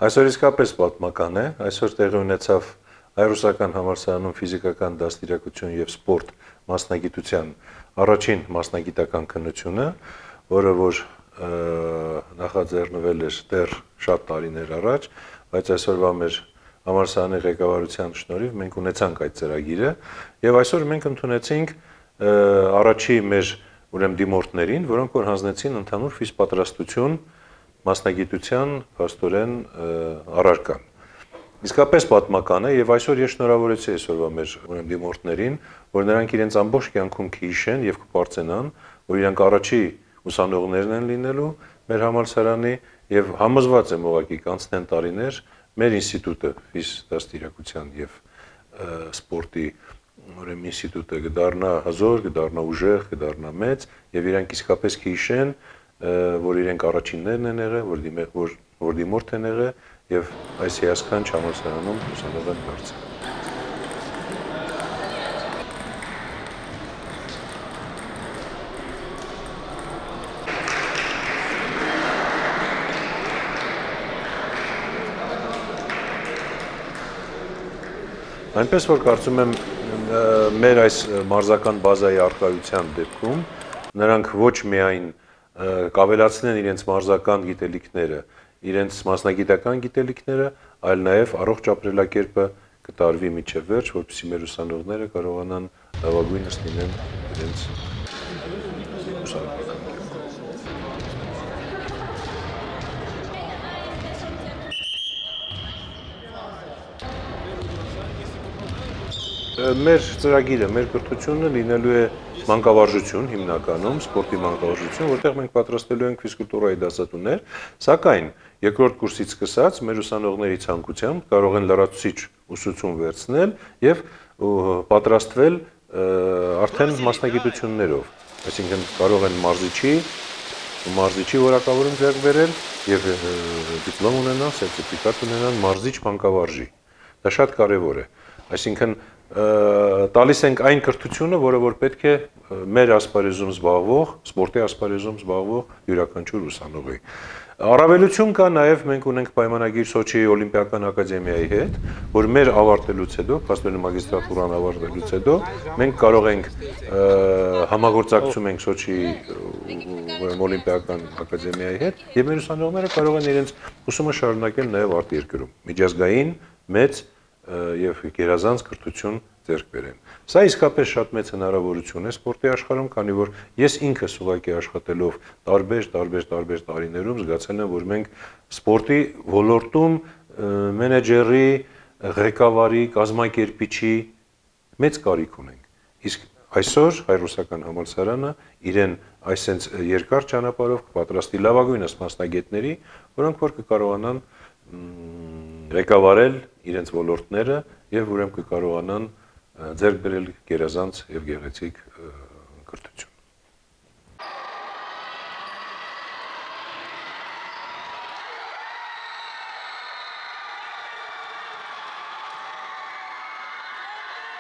Այսօր իսկապես պատմական է, այսօր տեղի ունեցավ հայ-ռուսական համալսարանում ֆիզիկական դաստիարակություն եւ սպորտ մասնագիտության առաջին մասնագիտական քննությունը, որը որ նախաձեռնվել էր դեռ շատ տարիներ առաջ, բայց այսօրվա մեր համալսարանի ղեկավարության շնորհիվ մենք ունեցանք այդ ծրագիրը եւ այսօր մենք ընդունեցինք առաջի մեր ուրեմն դիմորդներին, որոնք որ հանձնեցին ընդհանուր ֆիզպատրաստություն մասնագիտության փաստորեն առարկան։ Իսկապես պատմական է եւ այսօր ես շնորհավորեցի այսօրվա մեր ուրեմն դիմորդներին, որ նրանք իրենց ամբողջ կյանքում կհիշեն եւ կպարծենան, որ իրանք առաջի ուսանողներն են լինելու մեր համալսարանի եւ համոզված եմ ուղղակի կանցնեն տարիներ մեր ինստիտուտը ֆիզդաստիարակության եւ սպորտի ուրեմն ինստիտուտը կդառնա հզոր, կդառնա ուժեղ, կդառնա մեծ եւ իրանք իսկապես կհիշեն, որ իրենք առաջիններն են եղել, որ դիմորդ են եղել եւ այս հիասքանչ համալսարանում ուսանող են դարձել։ Այնպես որ կարծում եմ մեր այս մարզական բազայի առկայության դեպքում նրանք ոչ միայն կավելացնեն իրենց մարզական գիտելիքները, իրենց մասնագիտական գիտելիքները, այլ նաև առողջ ապրելակերպը կտարվի մինչև վերջ, որպեսզի մեր ուսանողները կարողանան լավագույնս լինեն իրենց ուսանողական Մեր ծրագիրը, մեր կրթությունը լինելու է մանկավարժություն հիմնականում, սպորտի մանկավարժություն, որտեղ մենք պատրաստելու ենք ֆիզկուլտուրայի դասատուներ, սակայն երկրորդ կուրսից սկսած մեր ուսանողների ցանկությամբ կարող են լրացուցիչ ուսուցում վերցնել եւ պատրաստվել արդեն մասնագիտություններով, այսինքն կարող են մարզիչի որակավորում ձեռք բերել եւ դիպլոմ ունենալ, սերտիֆիկատ ունենալ մարզիչ մանկավարժի։ Դա շատ կարեւոր է, այսինքն տալիս ենք այն կրթությունը, որը որ պետք է մեր ասպարեզում զբաղվող, սպորտի ասպարեզում զբաղվող յուրաքանչյուր ուսանողի։ Առավելություն կա նաև մենք ունենք պայմանագիր Սոչիի օլիմպիական ակադեմիայի հետ, որ մեր ավարտելուց հետո, փաստորեն մագիստրատուրան ավարտելուց հետո, մենք կարող ենք համագործակցում ենք Սոչիի օլիմպիական ակադեմիայի հետ, եւ մեր ուսանողները կարող են իրենց ուսումը շարունակել նաև արտերկրում, միջազգային մեծ եւ գերազանց կրթություն ձեռք բերեն։ Սա իսկապես շատ մեծ հնարավորություն է սպորտի աշխարհում, քանի որ ես ինքս ուղղակի աշխատելով տարբեր տարիներում զգացել եմ, որ մենք սպորտի ոլորտում մենեջերի, ղեկավարի, կազմակերպիչի մեծ կարիք ունենք։ Իսկ այսօր հայ-ռուսական համալսարանը իրեն այսենց երկար ճանապարհով կպատրաստի լավագույնս մասնագետների, որոնք որ կկարողանան ղեկավարել իրենց ոլորտները եւ ուրեմն կկարողանան ձեռք բերել գերազանց եւ գեղեցիկ կրթություն։